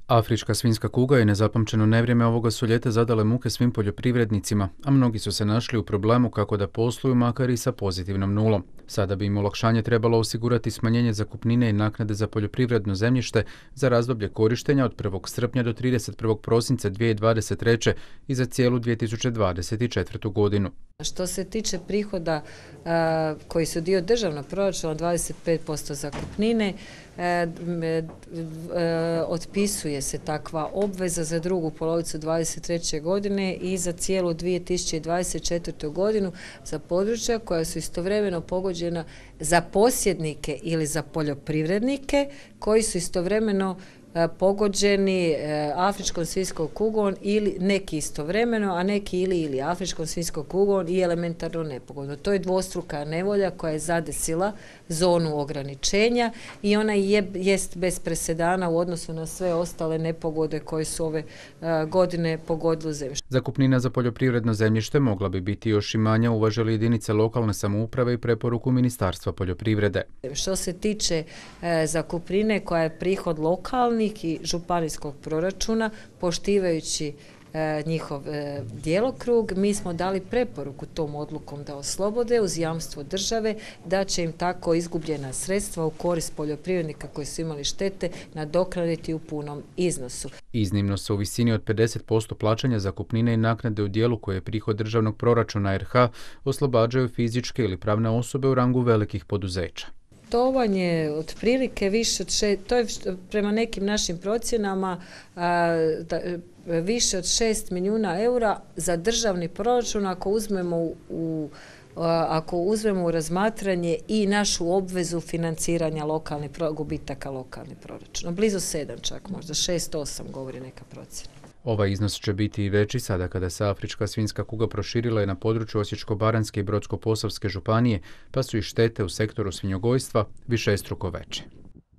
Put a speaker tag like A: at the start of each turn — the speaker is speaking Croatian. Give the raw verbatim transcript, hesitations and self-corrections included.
A: Afrička svinjska kuga i nezapamćeno nevrijeme ovoga su ljeta zadale muke svim poljoprivrednicima, a mnogi su se našli u problemu kako da posluju makar i sa pozitivnom nulom. Sada bi im olakšanje trebalo osigurati smanjenje zakupnine i naknade za poljoprivredno zemljište za razdoblje korištenja od prvog srpnja do trideset prvog prosinca dvije tisuće dvadeset treće i za cijelu dvije tisuće dvadeset četvrtu. godinu.
B: Što se tiče prihoda a, koji su dio državnog proračuna, dvadeset pet posto zakupnine, a, a, otpisuje se takva obveza za drugu polovicu dvadeset treće. godine i za cijelu dvije tisuće dvadeset četvrtu. godinu za područja koja su istovremeno pogođena za posjednike ili za poljoprivrednike koji su istovremeno pogođeni afričkom svinjskom kugom ili neki istovremeno, a neki ili ili afričkom svinjskom kugom i elementarno nepogodno. To je dvostruka nevolja koja je zadesila zonu ograničenja i ona je, jest bez presedana u odnosu na sve ostale nepogode koje su ove uh, godine pogodile zemljište.
A: Zakupnina za poljoprivredno zemljište mogla bi biti još i manja, uvaže li jedinice lokalne samouprave i preporuku Ministarstva poljoprivrede.
B: Što se tiče uh, zakupnine koja je prihod lokalnih i županijskog proračuna, poštivajući e, njihov e, djelokrug, mi smo dali preporuku tom odlukom da oslobode uz jamstvo države, da će im tako izgubljena sredstva u korist poljoprivrednika koji su imali štete nadoknaditi u punom iznosu.
A: Iznimno se u visini od pedeset posto plaćanja zakupnine i naknade u dijelu koje je prihod državnog proračuna R H oslobađaju fizičke ili pravne osobe u rangu velikih poduzeća.
B: To vam je otprilike više od šest, to je prema nekim našim procjenama a, da, više od šest milijuna eura za državni proračun ako uzmemo u, u ako uzmemo u razmatranje i našu obvezu financiranja lokalnih gubitaka lokalnih proračuna. Blizu sedam čak, možda šest osam govori neka procjena.
A: Ovaj iznos će biti i veći sada kada se afrička svinjska kuga proširila je na području Osječko-baranjske i Brodsko-posavske županije, pa su i štete u sektoru svinjogojstva višestruko veće.